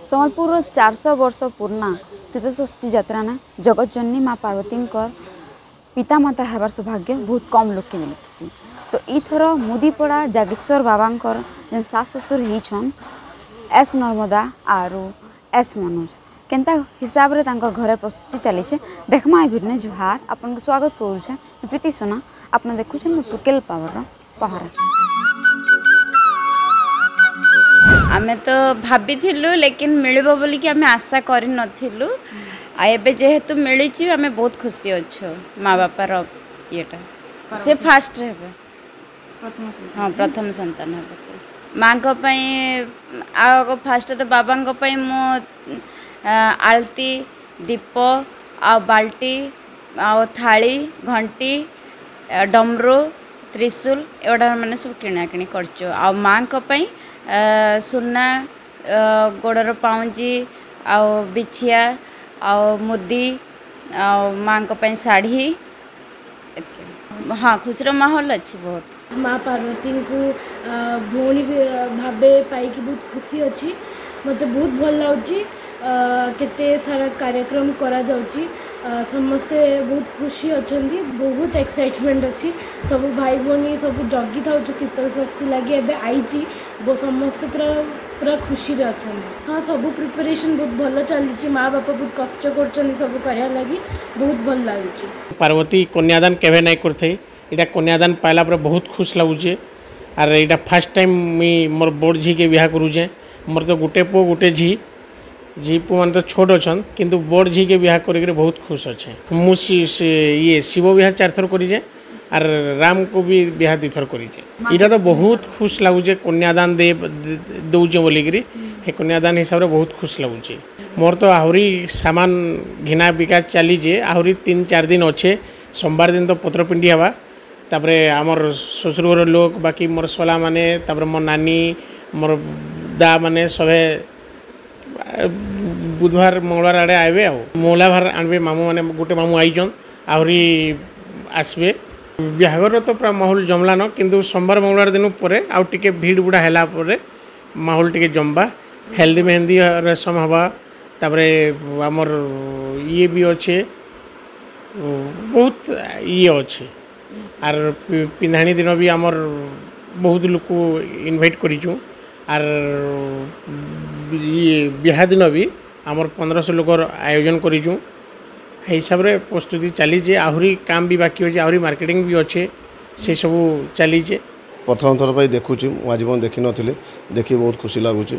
ସମ୍ବଲପୁରର 400 ବର୍ଷ ପୁରୁଣା ଶୀତଳଷଷ୍ଠୀ ଯାତ୍ରା ନା ଜଗତଜନନୀ ମା ପାର୍ବତୀଙ୍କର ପିତାମାତା ହେବାର ସୌଭାଗ୍ୟ ବହୁତ କମ୍ ଲୋକକେ ମିଳିସି। ତ ଏଇଥର ମୁଦିପଡ଼ା ଜାଗେଶ୍ୱର ବାବାଙ୍କର ଯେନ୍ ଶାଶ ଶ୍ୱଶୁର ହେଇଛନ୍ ଏସ୍ ନର୍ମଦା ଆରୁ ଏସ୍ ମନୋଜ, କେନ୍ତା ହିସାବରେ ତାଙ୍କର ଘରେ ପ୍ରସ୍ତୁତି ଚାଲିଛେ ଦେଖମା ଏ ଭିଡ଼ିଓ। ଜୁହାର, ଆପଣଙ୍କୁ ସ୍ୱାଗତ କରୁଛେ ପ୍ରୀତି ସୁନା। ଆପଣ ଦେଖୁଛନ୍ ଟୁକେଲ ପାୱାରର ପହରା। ଆମେ ତ ଭାବିଥିଲୁ ଲେକିନ୍ ମିଳିବ ବୋଲିକି ଆମେ ଆଶା କରିନଥିଲୁ, ଆଉ ଏବେ ଯେହେତୁ ମିଳିଛି ଆମେ ବହୁତ ଖୁସି ଅଛୁ। ମା ବାପାର ଇଏଟା ସେ ଫାଷ୍ଟ ହେବେ, ହଁ ପ୍ରଥମ ସନ୍ତାନ ହେବ ସେ। ମାଆଙ୍କ ପାଇଁ ଆଉ ଫାଷ୍ଟ ତ ବାବାଙ୍କ ପାଇଁ ମୁଁ ଆଳତି, ଦୀପ ଆଉ ବାଲ୍ଟି ଆଉ ଥାଳି, ଘଣ୍ଟି, ଡମରୁ, ତ୍ରିଶୂଲ ଏଗୁଡ଼ା ମାନେ ସବୁ କିଣାକିଣି କରିଛୁ। ଆଉ ମାଆଙ୍କ ପାଇଁ ସୁନା, ଗୋଡ଼ର ପାଉଁଜି ଆଉ ବିଛିଆ ଆଉ ମୁଦି ଆଉ ମାଆଙ୍କ ପାଇଁ ଶାଢ଼ୀ ଏତିକି। ହଁ, ଖୁସିର ମାହୋଲ ଅଛି ବହୁତ। ମା ପାର୍ବତୀଙ୍କୁ ଭଉଣୀ ଭାବେ ପାଇକି ବହୁତ ଖୁସି ଅଛି। ମୋତେ ବହୁତ ଭଲ ଲାଗୁଛି। କେତେ ସାରା କାର୍ଯ୍ୟକ୍ରମ କରାଯାଉଛି, ସମସ୍ତେ ବହୁତ ଖୁସି ଅଛନ୍ତି, ବହୁତ ଏକ୍ସାଇଟମେଣ୍ଟ ଅଛି। ସବୁ ଭାଇ ଭଉଣୀ ସବୁ ଜଗିଥାଉଛୁ ଶୀତଳ ଷଷ୍ଠୀ ଲାଗି, ଏବେ ଆଇଛି, ସମସ୍ତେ ପୁରା ପୁରା ଖୁସିରେ ଅଛନ୍ତି। ହଁ, ସବୁ ପ୍ରିପାରେସନ୍ ବହୁତ ଭଲ ଚାଲିଛି। ମା ବାପା ବହୁତ କଷ୍ଟ କରୁଛନ୍ତି ସବୁ କରିବା ଲାଗି, ବହୁତ ଭଲ ଲାଗୁଛି। ପାର୍ବତୀ କନ୍ୟାଦାନ କେବେ ନାଇଁ କରିଥାଇ, ଏଇଟା କନ୍ୟାଦାନ ପାଇଲା ପରେ ବହୁତ ଖୁସି ଲାଗୁଛେ। ଆର୍ ଏଇଟା ଫାର୍ଷ୍ଟ ଟାଇମ୍ ମୁଇଁ ମୋର୍ ବଡ଼ ଝିକେ ବିହା କରୁଛେଁ। ମୋର୍ ତ ଗୋଟେ ପୁଅ ଗୋଟେ ଝି, ଝି ପୁଅମାନେ ତ ଛୋଟ ଅଛନ୍, କିନ୍ତୁ ବଡ଼ ଝିକେ ବିହା କରିକିରି ବହୁତ ଖୁସ୍ ଅଛେଁ ମୁଁ। ଇଏ ଶିବ ବିହା 4 ଥର କରିଛେଁ ଆର୍ ରାମକୁ ବି ବିହା 2 ଥର କରିଛେଁ। ଏଇଟା ତ ବହୁତ ଖୁସ୍ ଲାଗୁଛେ କନ୍ୟାଦାନ ଦଉଛେ ବୋଲିକିରି, ହେ କନ୍ୟାଦାନ ହିସାବରେ ବହୁତ ଖୁସ୍ ଲାଗୁଛେ। ମୋର୍ ତ ଆହୁରି ସାମାନ ଘିନା ବିକା ଚାଲିଛେ, ଆହୁରି 3-4 ଦିନ ଅଛେ। ସୋମବାର ଦିନ ତ ପତ୍ରପିଣ୍ଡି ହେବା, ତାପରେ ଆମର୍ ଶ୍ୱଶୁର ଘର ଲୋକ, ବାକି ମୋର୍ ଶଲାମାନେ, ତାପରେ ମୋର୍ ନାନୀ, ମୋର୍ ଦା ମାନେ ସଭେ ବୁଧବାର ମଙ୍ଗଳବାର ଆଡ଼େ ଆଇବେ। ଆଉ ମୌଲାଭାର ଆଣବେ ମାମୁଁ ମାନେ, ଗୋଟେ ମାମୁଁ ଆଇଛନ୍, ଆହୁରି ଆସିବେ। ବିହାଘରର ତ ପୁରା ମାହୋଲ ଜମଲାନ, କିନ୍ତୁ ସୋମବାର ମଙ୍ଗଳବାର ଦିନ ପରେ ଆଉ ଟିକେ ଭିଡ଼ ବୁଡ଼ା ହେଲା ପରେ ମାହୋଲ ଟିକେ ଜମବା। ହେଲ୍ଦି ମେହେନ୍ଦି ରସମ ହେବା, ତାପରେ ଆମର୍ ଇଏ ବି ଅଛେ, ବହୁତ ଇଏ ଅଛେ। ଆର୍ ପିନ୍ଧାଣି ଦିନ ବି ଆମର୍ ବହୁତ ଲୋକ ଇନଭାଇଟ୍ କରିଛୁଁ। ଆର୍ ଇଏ ବିହା ଦିନ ବି ଆମର୍ 1500 ଲୋକର ଆୟୋଜନ କରିଛୁଁ। ହେଇ ହିସାବରେ ପ୍ରସ୍ତୁତି ଚାଲିଛେ, ଆହୁରି କାମ ବି ବାକି ଅଛେ, ଆହୁରି ମାର୍କେଟିଂ ବି ଅଛେ, ସେସବୁ ଚାଲିଛେ। ପ୍ରଥମ ଥର ପାଇଁ ଦେଖୁଛି, ମୁଁ ଆଜି ପର୍ଯ୍ୟନ୍ତ ଦେଖିନଥିଲି, ଦେଖି ବହୁତ ଖୁସି ଲାଗୁଛି।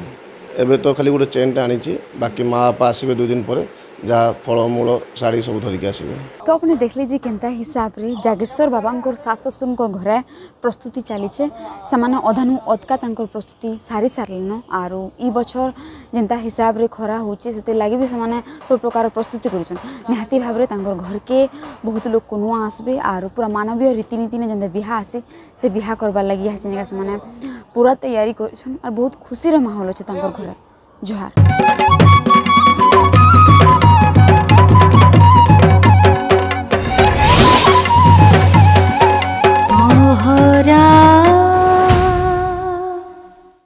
ଏବେ ତ ଖାଲି ଗୋଟେ ଚେନ୍ଟା ଆଣିଛି, ବାକି ମା ବାପା ଆସିବେ 2 ଦିନ ପରେ, ଯାହା ଫଳମୂଳ ଶାଢ଼ୀ ସବୁ ଧରିକି ଆସିବେ। ତ ଆପଣ ଦେଖିଲେ ଯେ କେନ୍ତା ହିସାବରେ ଜାଗେଶ୍ୱର ବାବାଙ୍କର ଶାଶ ଶ୍ୱଶୁରଙ୍କ ଘରେ ପ୍ରସ୍ତୁତି ଚାଲିଛେ। ସେମାନେ ଅଧାନୁ ଅଧକା ତାଙ୍କର ପ୍ରସ୍ତୁତି ସାରି ସାରିଲେନ। ଆରୁ ଇ ବଛର ଯେନ୍ତା ହିସାବରେ ଖରା ହେଉଛି, ସେଥିର୍ଲାଗି ବି ସେମାନେ ସବୁ ପ୍ରକାର ପ୍ରସ୍ତୁତି କରୁଛନ୍। ନିହାତି ଭାବରେ ତାଙ୍କର ଘରକେ ବହୁତ ଲୋକ ନୂଆ ଆସିବେ, ଆରୁ ପୁରା ମାନବୀୟ ରୀତିନୀତିନେ ଯେନ୍ତା ବିହା ଆସେ ସେ ବିହା କରବାର୍ ଲାଗି ଇହା ସେମାନେ ପୁରା ତૈୟାରୀ କରିଛନ୍। ଆର୍ ବହୁତ ଖୁସିର ମାହୋଲ ଅଛେ ତାଙ୍କର ଘରେ। ଜୁହାର।